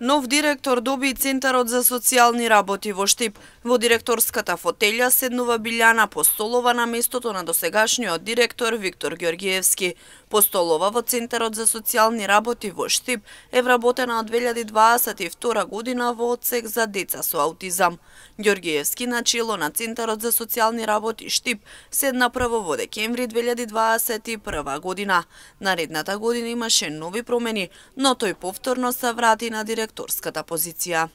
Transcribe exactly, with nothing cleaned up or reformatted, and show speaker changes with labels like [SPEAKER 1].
[SPEAKER 1] Нов директор доби Центарот за социјални работи во Штип. Во директорската фотелја седнува Билјана Постолова на местото на досегашниот директор Виктор Ѓорѓиевски. Постолова во Центарот за социјални работи во Штип е вработена од две илјади дваесет и втора година во одсек за деца со аутизам. Ѓорѓиевски на чело на Центарот за социјални работи Штип седна прво во декември две илјади дваесет и прва година. Наредната година имаше нови промени, но тој повторно се врати на директорската позиција.